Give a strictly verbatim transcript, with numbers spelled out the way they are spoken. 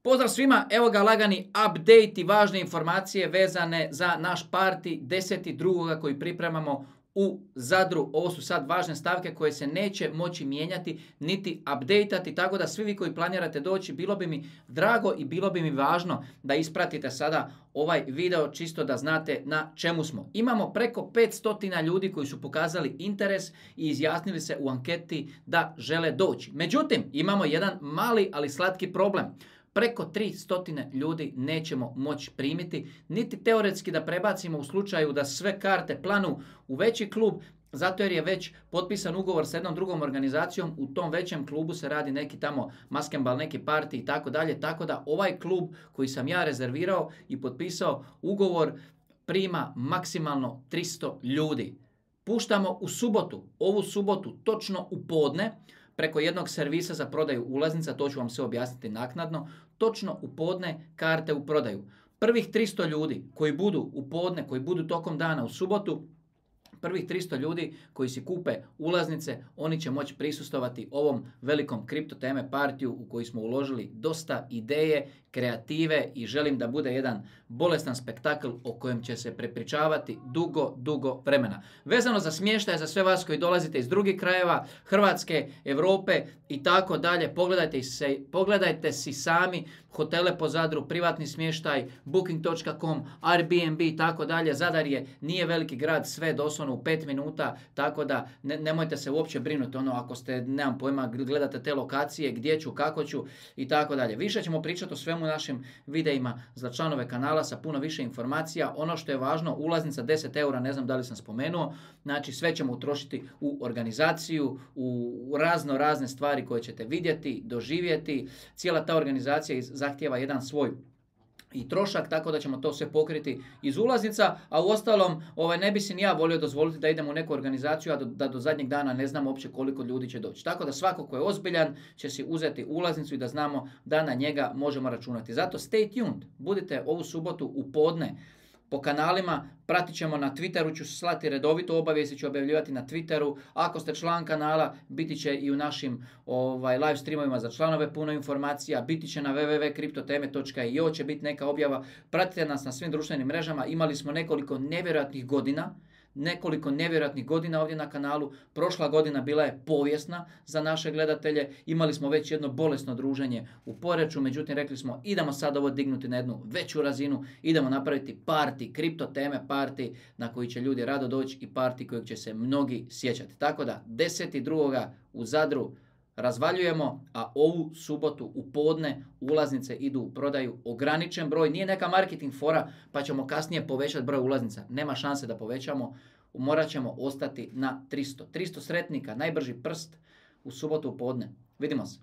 Pozdrav svima, evo ga lagani update i važne informacije vezane za naš party deset drugog koji pripremamo u Zadru. Ovo su sad važne stavke koje se neće moći mijenjati niti updateati, tako da svi vi koji planirate doći, bilo bi mi drago i bilo bi mi važno da ispratite sada ovaj video čisto da znate na čemu smo. Imamo preko petsto ljudi koji su pokazali interes i izjasnili se u anketi da žele doći. Međutim, imamo jedan mali ali slatki problem. Preko tristo ljudi nećemo moći primiti, niti teoretski da prebacimo u slučaju da sve karte planu u veći klub, zato jer je već potpisan ugovor sa jednom drugom organizacijom, u tom većem klubu se radi neki tamo maskembal, neki party i tako dalje, tako da ovaj klub koji sam ja rezervirao i potpisao ugovor prima maksimalno tristo ljudi. Puštamo u subotu, ovu subotu točno u podne, preko jednog servisa za prodaju ulaznica, to ću vam sve objasniti naknadno, točno u podne karte u prodaju. Prvih tristo ljudi koji budu u podne, koji budu tokom dana u subotu, prvih tristo ljudi koji si kupe ulaznice, oni će moći prisustovati ovom velikom kripto teme partiju u koji smo uložili dosta ideje, kreative i želim da bude jedan bolestan spektakl o kojem će se prepričavati dugo, dugo vremena. Vezano za smještaj, za sve vas koji dolazite iz drugih krajeva, Hrvatske, Europe i tako dalje, pogledajte, se, pogledajte si sami hotele po Zadru, privatni smještaj, booking točka com, Airbnb i tako dalje. Zadar je, nije veliki grad, sve doslovno u pet minuta, tako da ne, nemojte se uopće brinuti ono ako ste, nemam pojma, gledate te lokacije, gdje ću, kako ću i tako dalje. Više ćemo pričati o svemu u našim videima za članove kanala sa puno više informacija. Ono što je važno, ulaznica deset eura, ne znam da li sam spomenuo, znači sve ćemo utrošiti u organizaciju, u razno razne stvari koje ćete vidjeti, doživjeti. Cijela ta organizacija zahtijeva jedan svoj i trošak, tako da ćemo to sve pokriti iz ulaznica, a u ostalom ovaj, ne bi si ni ja volio dozvoliti da idemo u neku organizaciju, a do, da do zadnjeg dana ne znamo uopće koliko ljudi će doći. Tako da svako ko je ozbiljan će si uzeti ulaznicu i da znamo da na njega možemo računati. Zato stay tuned, budite ovu subotu u podne po kanalima, pratit ćemo na Twitteru, ću slati redovito obavijesti, ću objavljivati na Twitteru. Ako ste član kanala, biti će i u našim ovaj, live streamovima za članove puno informacija, biti će na w w w točka kriptoteme točka i o će biti neka objava. Pratite nas na svim društvenim mrežama, imali smo nekoliko nevjerojatnih godina, nekoliko nevjerojatnih godina ovdje na kanalu. Prošla godina bila je povijesna za naše gledatelje. Imali smo već jedno bolesno druženje u Poreču, međutim rekli smo idemo sad ovo dignuti na jednu veću razinu, idemo napraviti party, kripto teme party na koji će ljudi rado doći i party kojeg će se mnogi sjećati. Tako da deset drugog u Zadru razvaljujemo, a ovu subotu u podne ulaznice idu u prodaju, ograničen broj, nije neka marketing fora pa ćemo kasnije povećati broj ulaznica, nema šanse da povećamo, morat ćemo ostati na tristo. tristo sretnika, najbrži prst u subotu u podne. Vidimo se.